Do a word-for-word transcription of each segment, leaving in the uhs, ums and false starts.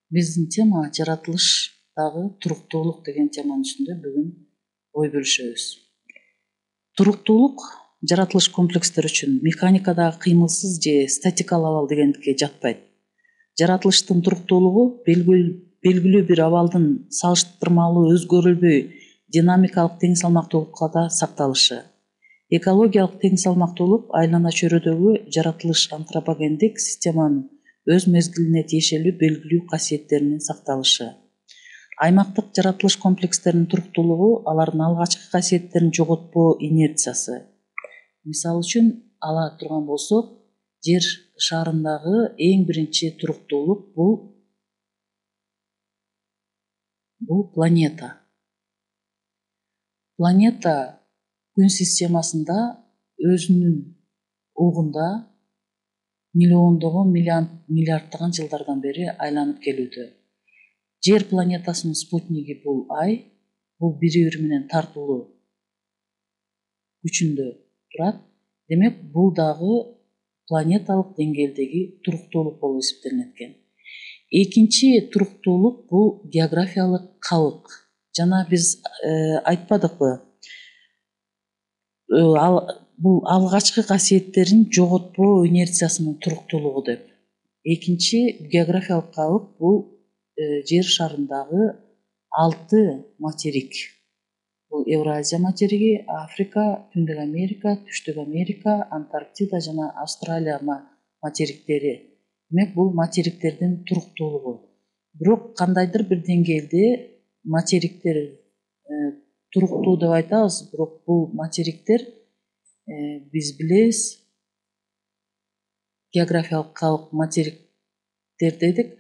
Биздин тема жаратылыштагы туруктуулук деген теманын үстүндө бүгүн ой бөлүшөбүз. Туруктуулук жаратылыш комплекстери үчүн механикадагы кыймылсыз же статикалык абал дегендикке жатпайт. Жаратылыштын туруктуулугу белгилүү бир абалдын салыштырмалуу өзгөрүлбөй динамикалык тең салмактуулукка да сакталышы. Экологиялык тең салмактуулук айлана чөйрөдөгү жаратылыш антропогендик системанын өз мезгилине тиешелүү белгилүү касиеттеринин сакталышы. Аймактык жаратылыш комплекстеринин туруктуулугу алардын алгачкы касиеттерин жоготпоо инерциясы. Мисалы үчүн ала турган болсок, Жер шарындагы эң биринчи туруктуулук бул бул планета. Планета Күн системасында өзүнүн угунда миллиондогон миллиарддаган жылдардан бери айланып келүүдө. Жер планетасынын спутниги бул Ай, бул бири бири менен тартылуу күчүндө турат. Демек, бул дагы планеталык деңгээлдеги туруктуулук болуп эсептелинет экен. Экинчи туруктуулук бул географиялык калык. Жана биз айтпадыкпы, бул алгачкы касиеттерин жоготпоо инерциясынын туруктуулугу деп. Экинчи географиялык калык бул Жер шарындагы алты материк. Бул Евразия материги, Африка, Түндүк Америка, Түштүк Америка, Антарктида жана Австралия материктери. Демек, бул материктердин туруктуулугу. Бирок кандайдыр бир деңгээлде материктер туруктуу деп айтабыз, бирок бул материктер биз билебиз, географиялык калык материктер дедик.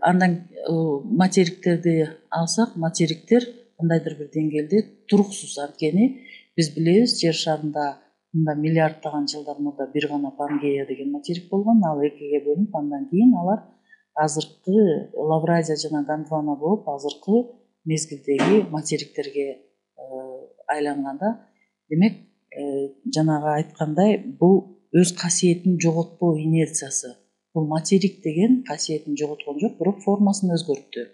Андан материктерди алсак, материктер кандайдыр бир деңгээлде туруксуз. Анткени биз билебиз, Жер шарында мында миллиарддаган жылдар мурда бир гана Пангея деген материк болгон, ал экиге бөлүнүп, андан кийин алар азыркы Лавразия жана Гондвана болуп, азыркы мезгилдеги материктерге айланганда. Демек, жанагы айткандай, бул өз касиетин жоготпоо инерциясы. Бул материк деген касиетин жоготкон жок, бирок формасын өзгөрттү.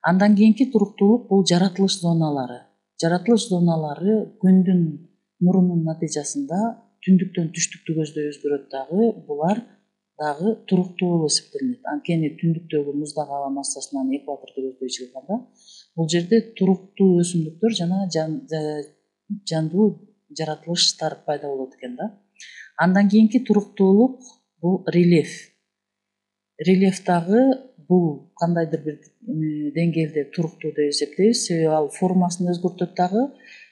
Андан кийинки туруктуулук бул жаратылыш зоналары. Жаратылыш зоналары Күндүн нурунун натыйжасында түндүктөн түштүктү көздөй өзгөрөт дагы, булар дагы туруктуу болуп эсептелинет. Анткени түндүктөгү муздак аба массасынан экваторду көздөй чыгганда, бул жерде туруктуу өсүмдүктөр жана жандуу жаратылыштар пайда болот экен да. Андан кийинки туруктуулук бул рельеф. Рельеф дагы бул кандайдыр бир деңгээлде туруктуу деп эсептейбиз, себеби ал формасын өзгөртөт дагы,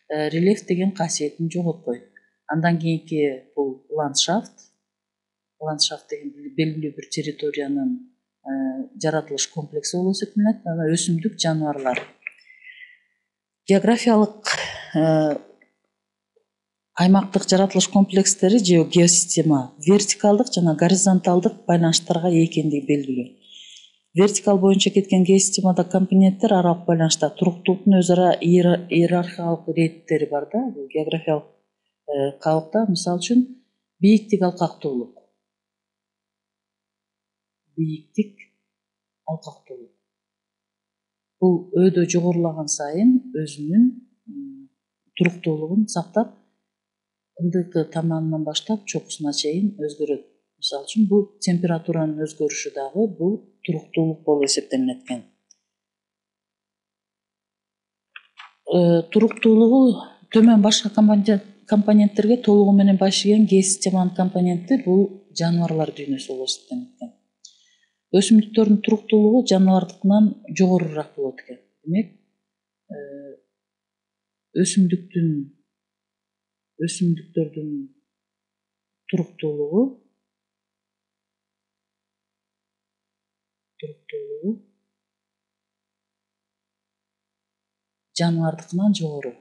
рельеф деген касиетин жоготпойт. Андан кийинки бул ландшафт. Ландшафт деген белгилүү бир территориянын жаратылыш комплекси болуп эсептелинет. Анан өсүмдүк, жаныбарлар. Географиялык аймактык жаратылыш комплекстери же геосистема вертикалдык жана горизонталдык байланыштарга ээ экендиги белгилүү. Вертикал боюнча кеткен геосистемада компоненттер аралык байланышта туруктуулуктун өз ара иерархиялык иретиттери бар да. Бул географиялык калыкта, мисалы үчүн, бийиктик, алкактуулук. Бийиктик, алкактуулук. Бул өйдө жогорулаган сайын өзүнүн туруктуулугун сактап, ылдыйкы таманынан баштап чокусуна чейин өзгөрөт. Мисалы үчүн, бул температуранын өзгөрүшү дагы бул туруктуулук болуп эсептелинет экен. Туруктуулугу төмөн башка компоненттерге толугу менен баш ийген геосистеманын компоненти бул жаныбарлар дүйнөсү болуп эсептелинет экен. Өсүмдүктөрдүн туруктуулугу жаныбардыкынан жогорураак болот экен. Демек, өсүмдүктүн өсүмдүктөрдүн туруктуулугу туруктуулугу жаныбардыкынан жогору.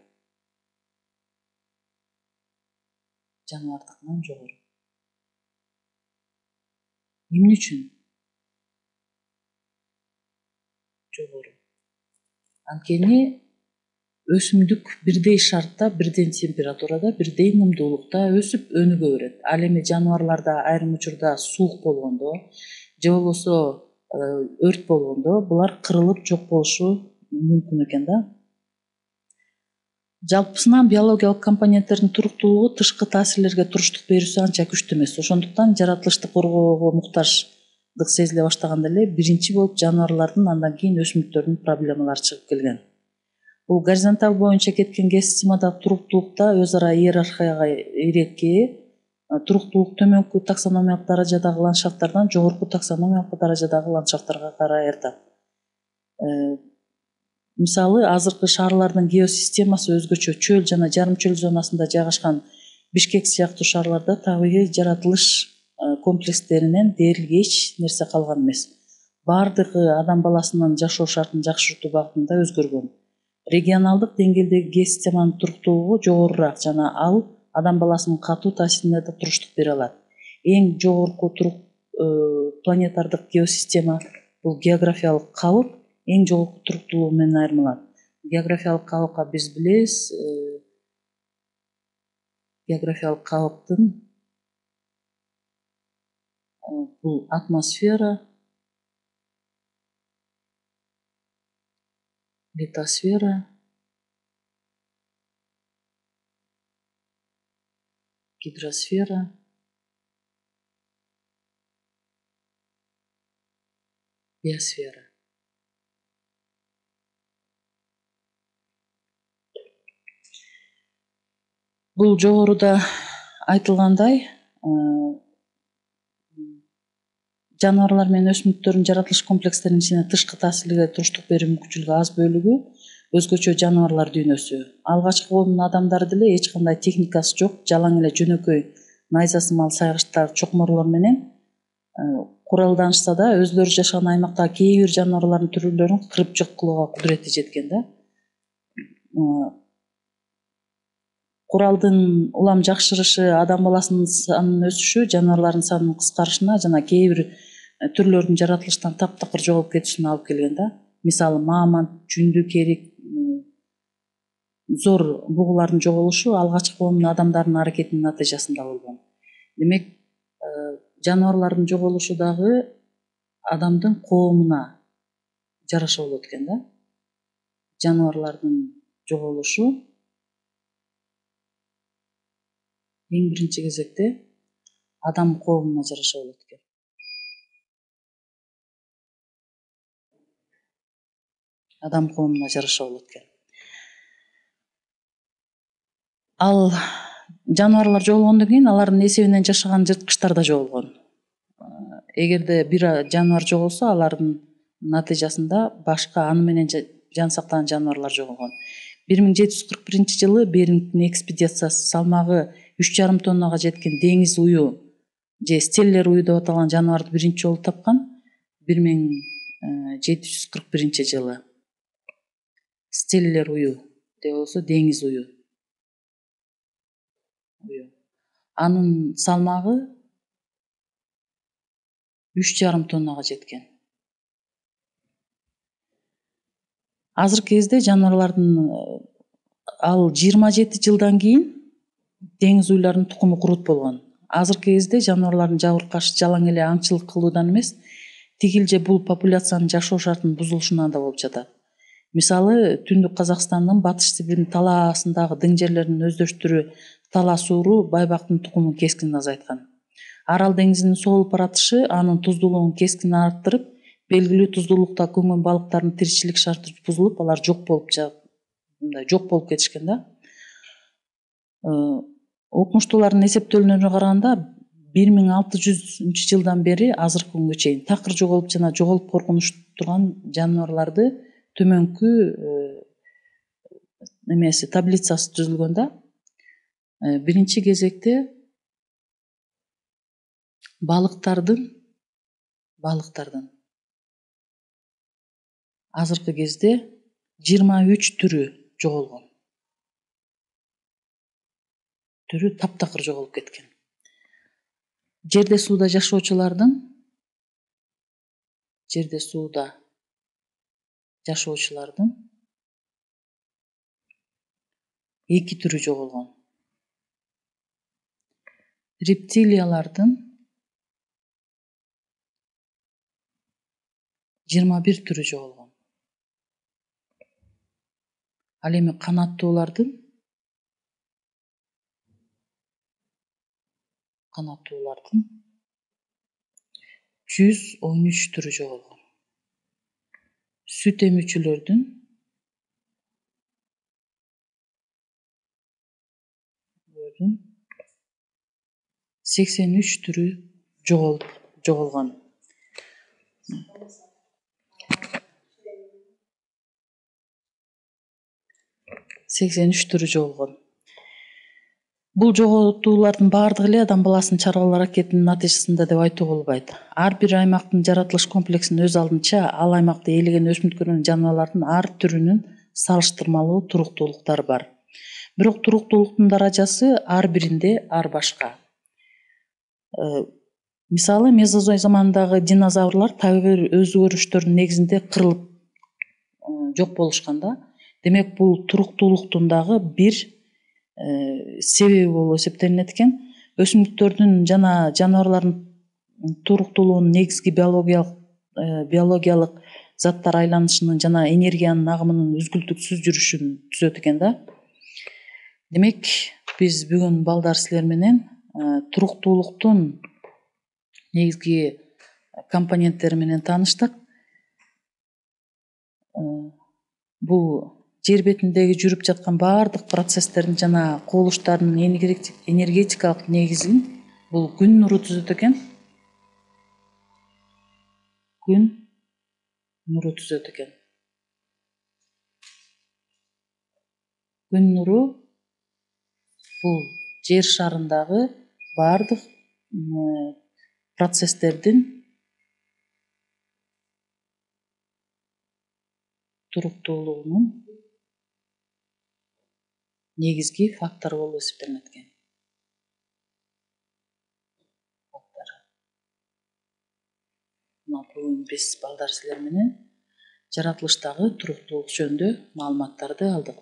Жаныбардыкынан жогору. Эмне үчүн? Жогору. Анткени өсүмдүк бирдей шартта, бирдей температурада, бирдей ынымдуулукта өсүп өнүгө берет. Ал эми жаныбарларда айрым учурда суук болгондо же болбосо өрт болгондо булар кырылып жок болушу мүмкүн экен да. Жалпысынан биологиялык компоненттердин туруктуулугу тышкы таасирлерге туруштук берүүсү анча күчтүү эмес. Ошондуктан жаратылышты коргоого муктаждык сезиле баштаганда эле биринчи болуп жаныбарлардын, андан кийин өсүмдүктөрдүн проблемалары чыгып келген. Бул горизонталь боюнча кеткен кең системадагы туруктуулукта өз ара иерархияга ирээкке, туруктуулук төмөнкү таксономиялык даражадагы ландшафттардан жогорку таксономиялык даражадагы ландшафттарга карай аyrылат. Мисалы, азыркы шаарлардын геосистемасы өзгөчө. Чөл жана жарым чөл зонасында жайгашкан Бишкек сыяктуу шаарларда табигый жаратылыш комплекстеринен дээрлик эч нерсе калган эмес. Бардыгы адам баласынын жашоо шартын жакшыртуу багытында өзгөргөн. Регионалдык деңгээлдеги геосистеманын туруктуулугу жогорураак жана ал адам баласынын катуу таасирине да туруштук бере алат. Эң жогорку турук планетардык геосистема бул географиялык калып эң жогорку туруктуулугу менен айырмаланат. Географиялык калыпка биз билебиз, географиялык калыптын бул атмосфера, литосфера, гидросфера, биосфера. Бул жогоруда айтылгандай, жаныбарлар менен өсүмдүктөрдүн жаратылыш комплекстеринин ичине тышкы таасирлерге туруштук берүү мүмкүнчүлүгү аз бөлүгү өзгөчө жаныбарлар дүйнөсү. Алгачкы коомдун адамдары деле эч кандай техникасы жок, жалаң эле жөнөкөй найза сымал сайгычтар, чокморлор менен куралданышса да, өзлөрү жашаган аймактагы кээ бир жаныбарлардын түрлөрүн кырып жок кылууга кудурети жеткен да. Куралдын улам жакшырышы адам баласынын санынын өсүшү жаныбарлардын санынын кыскарышына жана кээ бир түрлөрдүн жаратылыштан таптакыр жоголуп кетишине алып келген да. Мисалы, мамонт, жүндү керик, зор бугулардын жоголушу алгачкы коомдун адамдарынын аракетинин натыйжасында болгон. Демек, жаныбарлардын жоголушу дагы адамдын коомуна жараша болот экен да. Жаныбарлардын жоголушу эң биринчи кезекте адам коомуна жараша болот экен. Адам коомуна жараша болот экен. Ал жаныбарлар жоголгондон кийин алардын эсебинен жашаган жырткычтар да жоголгон. Эгерде бир жаныбар жоголсо, алардын натыйжасында башка аны менен жан сактаган жаныбарлар жоголгон. бир миң жети жүз кырк биринчи жылы Берингтин экспедициясы салмагы үч жарым тоннага жеткен деңиз ую же стеллер ую деп аталган жаныбарды биринчи жолу тапкан. бир миң жети жүз кырк биринчи жылы стеллер ую же болбосо деңиз ую. Анын салмагы үч жарым тоннага жеткен. Азыркы кезде жаныбарлардын ал жыйырма жети жылдан кийин деңиз уйларынын тукуму курут болгон. Азыркы кезде жаныбарлардын жабыркашы жалаң эле аңчылык кылуудан эмес, тигилже бул популяциянын жашоо шартынын бузулушунан да болуп жатат. Мисалы, Түндүк Казакстандын Батыш Сибирдин талаасындагы дың жерлердин өздөштүрү Талас ууру байбактын тукумун кескин азайткан. Арал деңизинин соолуп баратышы анын туздуулугун кескин арттырып, белгилүү туздуулукта көнгөн балыктардын тиричилик шарты бузулуп, алар жок болуп мындай жок болуп кетишкен да. Окумуштуулардын эсептөөлөрүнө караганда бир миң алты жүзүнчү жылдан бери азыркы күнгө чейин такыр жоголуп жана жоголуп коркунуч турган жаныбарларды төмөнкү эмеси таблицасы түзүлгөн да. Биринчи кезекте балыктардын балыктардын азыркы кезде жыйырма үч түрү жоголгон. Түрү таптакыр жоголуп кеткен. Жерде сууда жашоочулардын жерде сууда жашоочулардын эки түрү жоголгон. Рептилиялардын жыйырма бир түрү жоголгон. Ал эми канаттуулардын канаттуулардын жүз он үч түрү жоголгон. Сүт эмүүчүлөрдүн сексен үч түрү жоголгон. сексен үч түрү жоголгон. Бул жоготуулардын баардыгы эле адам баласынын чарбалоо аракетинин натыйжасында деп айтууга болбойт. Ар бир аймактын жаратылыш комплексинин өз алдынча ал аймакта ээлеген өсүмдүктөр менен жаныбарлардын ар түрүнүн салыштырмалуу туруктуулуктары бар. Бирок туруктуулуктун даражасы ар биринде ар башка. Мисалы, мезозой заманындагы динозаврлар так бир өзгөрүштөрдүн негизинде кырылып жок болушкан да. Демек, бул туруктуулуктун дагы бир себеби болуп эсептелинет экен. Өсүмдүктөрдүн жана жаныбарлардын туруктуулугунун негизги биологиялык биологиялык заттар айланышынын жана энергиянын агымынын үзгүлтүксүз жүрүшүн түзөт экен да. Демек, биз бүгүн балдар силер менен туруктуулуктун негизги компоненттери менен тааныштык. Бул жер бетиндеги жүрүп жаткан баардык процесстердин жана кубулуштардын энергетикалык негизин бул күн нуру түзөт экен. Күн нуру түзөт экен. Күн нуру бул жер шарындагы баардык процесстердин туруктуулугунун негизги фактору болуп эсептелинет экен. Бүгүн биз балдар силер менен жаратылыштагы туруктуулук жөнүндө маалыматтарды алдык.